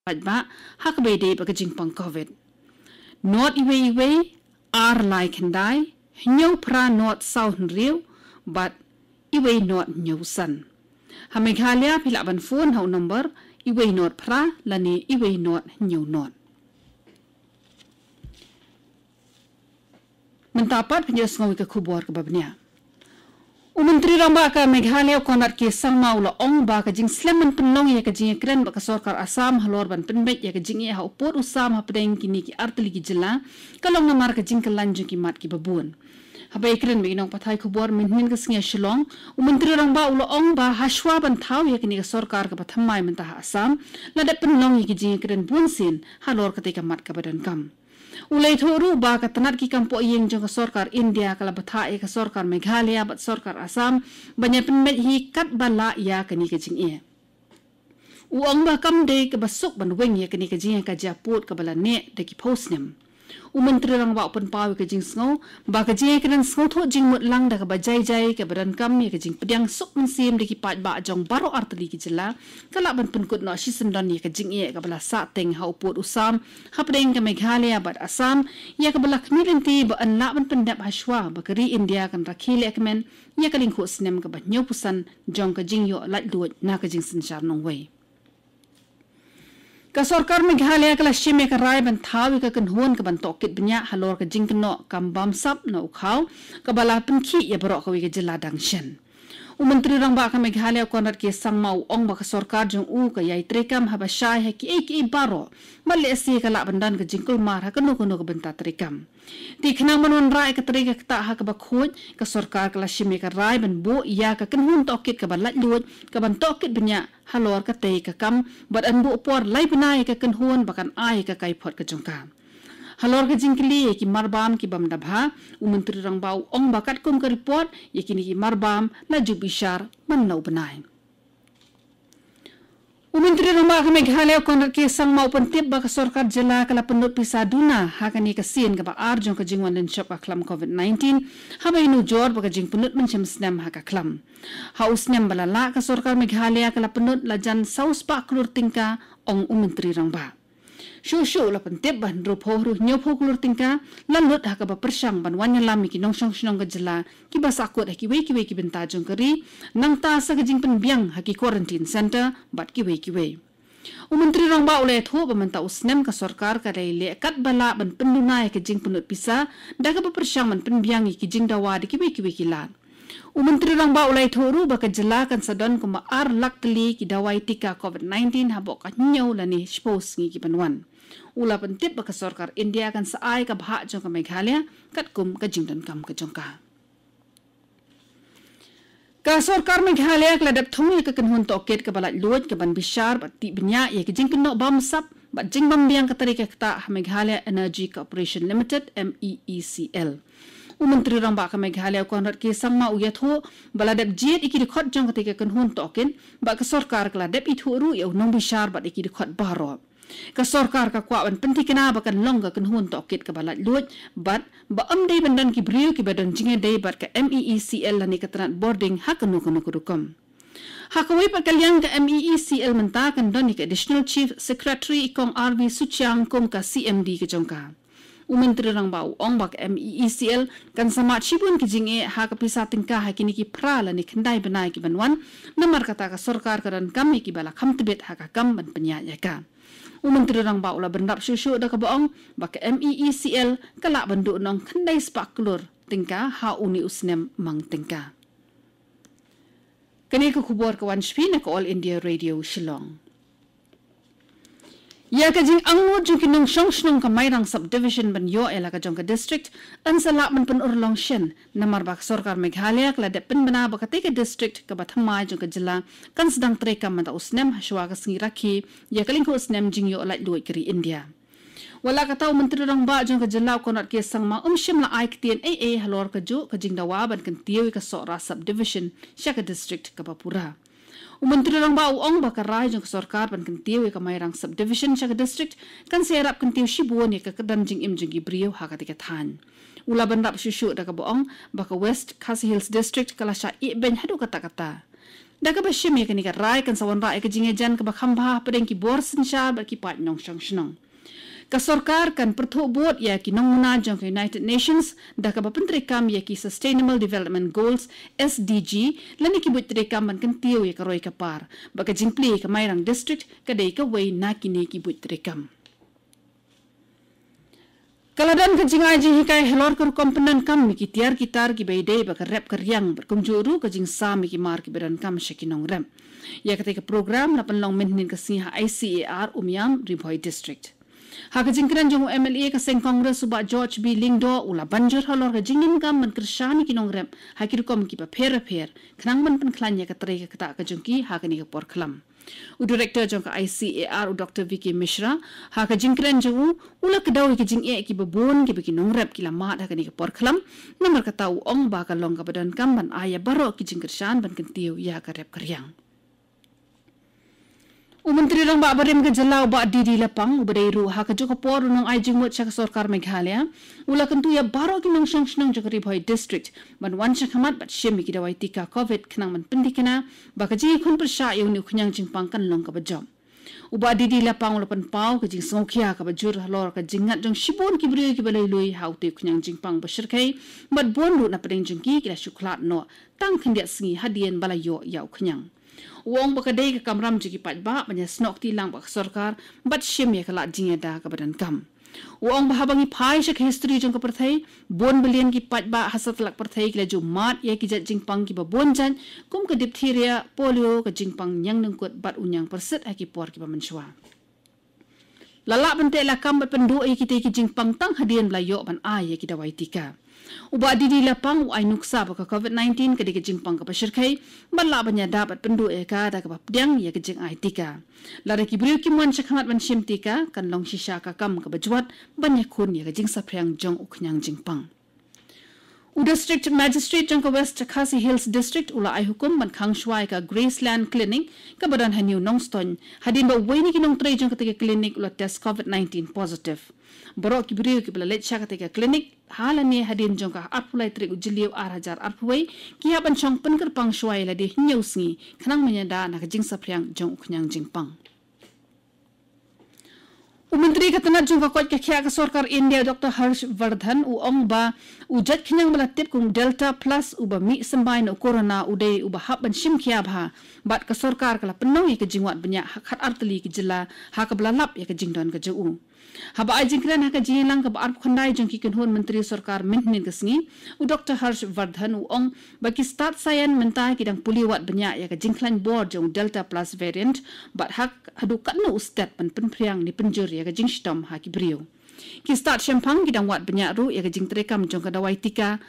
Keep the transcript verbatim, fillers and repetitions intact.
paidbah ha kaba ïadei bad ka jingpang Covid. Nod iwei iwei, ar lai khyndai, hynñiew phra nod saw hynriew, bad iwei nod hynñiew san. Ha Meghalaya phi lah ban phone ha u number iwei nod phra lane iwei nod hynñiew nod. Mynta pat phin ïohsngew ïa ka khubor kaba bniah. U Myntri Rangbah ka Meghalaya u Conrad K Sangma u la ong ba ka jingslem ban pynlong ïa ka jingïakren bad ka sorkar Assam halor ban pynbeit ïa ka jingeh ha u pud u sam hapdeng kine ki artylli ki jylla ka long namar ka jingkylla jong ki mat kiba bun. Haba ïakren bad ki nongpathai khubor mynhynnin ka sngi ha Shillong, u Myntri Rangbah u la ong ba hashwa ban thaw ïa kane ka sorkar kaba thymmai mynta ha Assam, la dep pynlong ïa ki jingïakren bunsien halor katei ka mat kaba donkam. U la ïathuh ruh ba ka tnat ki kam pohïing jong ka sorkar India ka la bthah ïa ka sorkar Meghalaya bad sorkar Assam ban ïa pynbeit hi katba lah ïa kane ka jingeh. U ong ba kam dei kaba suk ban weng ïa kane ka jingeh ka jia pud kaba la neh da ki phew snem. U Myntri Rangbah u pynpaw ïa ka jingsngew ba ka jingïakren sngewthuh jingmut lang da kaba jai jai kaba donkam ïa ka jingpdiang suk mynsiem da ki paidbah jong baroh artylli ki jylla ka lah ban pynkut noh shisyndon ïa ka jingeh kaba la sahteng ha u pud u sam hapdeng ka Meghalaya bad Assam, ïa kaba la khmih lynti ba yn lah ban pyndep hashwa ba ka ri India kan rakhe lehkmen ïa ka lyngkhuh snem kaba hynñiewphew san jong ka jingïoh laitluid na ka jingsynshar nongwei. Ka sorkar Meghalaya ka la shim ïa ka rai ban thaw ïa ka kynhun kaban tohkit bniah halor ka jingkynnoh kam bamsap na u khaw kaba la pynkhih ïa baroh kawei ka jylla dang shen. U Myntri Rangbah ka Meghalaya u Conrad K Sangma u ong ba ka sorkar jong u ka ïai treikam haba shai ha kiei kiei baroh, bad lehse ka lah ban don ka jingkulmar ha kano kano ka bynta treikam. Te khnang ban wanrah ïa ka trei ka ktah ha kaba khuid, ka sorkar ka la shim ïa ka rai ban buh ïa ka kynhun tohkit kaba laitluid kaban tohkit bniah halor katei ka kam bad yn buh por lai bnai ïa ka kynhun ba kan ai ïa ka kaiphod ka jong ka. Halor ka jingkylli ïa ki marbam ki bym da bha, u Myntri Rangbah u ong ba katkum ka report, ïa kine ki marbam la ju bishar man la u bnai. U Myntri Rangbah ka Meghalaya u Conrad K Sangma u pyntip ba ka sorkar jylla ka la pynlut pisa duna ha kane ka sien kaba ar jong ka jingwan lynshop ka khlam Covid nineteen, haba ïanujor bad ka jingpynlut mynshem snem ha ka khlam. Ha u snem ba la lah ka sorkar Meghalaya ka la pynlut la jan saw spah klur tyngka, ong u Myntri Rangbah. Shuh shuh u la pyntip ba hynriewphew haduh hynñiewphew klur tyngka la lut ha kaba pyrshang ban wan ïalam ïa ki nongshong shnong ka jylla kiba sahkut ha kiwei kiwei ki bynta jong ka ri, nangta sa ka jingpynbiang ha ki quarantine centre bad kiwei kiwei. U Myntri Rangbah u la ïathuh ba mynta u snem ka sorkar ka dei leh katba lah ban pynduna ïa ka jingpynlut pisa da kaba pyrshang ban pynbiang ïa ki jingdawa da kiwei kiwei ki lad. U Myntri Rangbah u la ïathuh ruh ba ka jylla kan sa don kumba ar lak tylli ki dawai tika Covid nineteen hapoh ka hynñiew lane shiphew sngi kiban wan. U la pyntip ba ka sorkar India kan sa ai ka bhah jong ka Meghalaya katkum ka jingdonkam ka jong ka. Ka sorkar Meghalaya ka la dep thung ïa ka kynhun tohkit kaba laitluid kaban bishar bad tih bniah ïa ka jingkynnoh bamsap bad jingbymbiang ka trei ka ktah ha Meghalaya Energy Corporation Limited, M E E C L. U Myntri Rangbah ka Meghalaya u Conrad K Sangma u ïathuh ba la dep jied ïa ki dkhot jong katei ka kynhun tohkit bad ka sorkar ka la dep ithuh ruh ïa u nongbishar bad ïa ki dkhot baroh. Ka sorkar ka kwah ban pynthikna ba kan long ka kynhun tohkit kaba laitluid bad ba ym dei ban don ki briew kiba don jingïadei bad ka M E E C L lane ka tnat bording ha kano kano ka rukom. Ha kawei pat ka liang ka M E E C L mynta kan don ïa ka Additional Chief Secretary i Kong R V Suchiang kum ka C M D ka jong ka. U Myntri Rangbah u ong ba ka M E E C L kan sa mad shibun ki jingeh ha ka pisa tyngka ha kine ki phra lane khyndai bnai kiban wan, namar kata ka sorkar ka donkam ïa kiba la kham tbit ha ka kam ban pynïaid ïa ka. U Myntri Rangbah u la bynrap shuh shuh da kaba ong ba ka M E E C L ka lah ban duh nong khyndai spah klur tyngka ha une u snem mang tyngka. Kane ka khubor ka wan sha phi na ka All India Radio Shillong. Ïa ka jingangnud jong ki nongshong shnong ka Mairang Subdivision ban ïoh ïa la ka jong ka district yn sa lah ban pynurlong shen, namar ba ka sorkar Meghalaya ka la dep pynbna ba katei ka district kaba thymmai jong ka jylla kan sdang treikam mynta u snem hashwa ka sngi rakhe ïa ka lyngkhuh snem jingïoh laitluid ka ri India. Wat la kata, u Myntri Rangbah jong ka jylla u Conrad K Sangma um shym la ai ktien ei ei halor kajuh ka jingdawa ban kyntiew ïa ka Sohra Subdivision sha ka district kaba pura. U Myntri Rangbah u ong ba ka rai jong ka sorkar ban kyntiew ïa ka Mairang Subdivision sha ka district kan sa ïarap kyntiew shibun ïa ka kyrdan jingim jong ki briew ha katei ka thaiñ. U la bynrap shuh shuh da kaba ong ba ka West Khasi Hills District ka la shah ïehbeiñ haduh katta katta. Da kaba shim ïa kane ka rai kan sa wanrah ïa ka jingïajan kaba kham bha hapdeng ki bor synshar bad ki paid nongshong shnong. Ka sorkar kan pyrthuh bud ïa ki nongmuna jong ka United Nations da kaba pyntreikam ïa ki Sustainable Development Goals, S D G, lane ki buit treikam ban kyntiew ïa ka roi ka par. Bad ka jingplie ka Mairang District ka dei kawei na kine ki buit treikam. Ka la don ka jingai jinghikai halor ka rukom pyndonkam ïa ki tiar ki tar kiba ïadei bad ka rep ka riang bad kumjuh ruh ka jingsam ïa ki mar kiba donkam sha ki nongrep. Ïa katei ka program la pynlong mynhynnin ka sngi ha I C A R Umiam, Ri Bhoi District. Ha ka jingkren jong u M L A ka seng Congress u Bah George B Lyngdoh u la ban jur halor ka jingdonkam ban kyrshan ïa ki nongrep ha ki rukom kiba pher bapher khnang ban pynkhlaiñ ïa ka trei ka ktah ka jong ki ha kane ka por khlam. U Director jong ka I C A R u Doctor V K Mishra, ha ka jingkren jong u, u la kdew ïa ka jingeh kiba bun kiba ki nongrep ki la mad ha kane ka por khlam, namar kata u ong ba ka long kaba donkam ban ai ïa baroh ki jingkyrshan ban kyntiew ïa ka rep ka riang. U Myntri Rangbah barim ka jylla u Bah D D Lapang, uba dei ruh ha kajuh ka por u nongai jingmut sha ka sorkar Meghalaya, u la kyntu ïa baroh ki nongshong shnong jong ka Ri Bhoi District ban wan sha khmat bad shim ïa ki dawai tika COVID khnang ban pynthikna ba ka jingïakhun pyrshah ïa une u khñiang jingpang kan long kaba jop. U Bah D D Lapang u la pynpaw ka jingsngewkhia kaba jur halor ka jingngat jong shibun ki briew kiba lui lui ha utei u khñiang jingpang ba shyrkhei, bad bun ruh na pdeng jong ki ki la shu khlad noh tang khyndiat sngi hadien ba la ïoh ïa u khñiang. U ong ba ka dei ka kamram jong ki paidbah ban ïasnoh kti lang bad ka sorkar bad shim ïa ka lad jingïada kaba donkam. U ong ba haba ngi phai sha ka history jong ka pyrthei, bun billion ki paidbah ha satlak pyrthei ki la ju mad ïa ki jait jingpang kiba bun jait, kum ka diphtheria, polio, ka jingpang ñiangnyngkut bad u ñiangpyrsit ha ki por kiba mynshuwa. La lah ban teh lakam bad pynduh ïa kitei ki jingpang tang hadien ba la ïoh ban ai ïa ki dawai tika. U Bah D D Lapang u ai nuksa ba ka COVID nineteen ka dei ka jingpang kaba shyrkhei, bad lah ban ïada bad pynduh ïa ka da kaba pdiang ïa ka jingai tika. Lada ki briew kim wan sha khmat ban shim tika, kan long shisha ka kam kaba jwat ban ïakhun ïa ka jingsaphriang jong u khñiang jingpang. U District Magistrate jong ka West Khasi Hills District u la ai hukum ban khang shuwa ïa ka Graceland Clinic kaba don ha New Nongstoiñ, hadien ba uwei na ki nongtrei jong katei ka clinic u la test COVID nineteen positive. Baroh ki briew kiba la leit sha katei ka clinic ha lane hadien jong ka arphew lai tarik u Jylliew ar hajar arphew wei ki hap ban shong pynkyrpang shuwa ïa lade hynñiew sngi khnang ban ïada na ka jingsaphriang jong u khñiang jingpang. U Myntri ka tnat jong ka koit ka khiah ka sorkar India, Doctor Harsh Vardhan, u ong ba u jait khñiang ba la tip kum Delta Plus uba mih symbai na u corona u dei uba hap ban shim khia bha, bad ka sorkar ka la pynlong ïa ka jingwad bniah ha khatar tylli ki jylla ha kaba la lap ïa ka jingdon ka jong u. Haba ai jingkren ha ka jingïalang kaba arphew khyndai jong ki kynhun myntri sorkar mynhynnin ka sngi, u Doctor Harsh Vardhan u ong ba ki stad saian mynta ki dang pule wad bniah ïa ka jingkhlaiñ bor jong u Delta Plus variant, bad ha haduh katno u stet ban pynphriang ne pynjur ïa ka jingshitom ha ki briew. Ki stad shemphang ki dang wad bniah ruh ïa ka jingtreikam jong ka dawai tika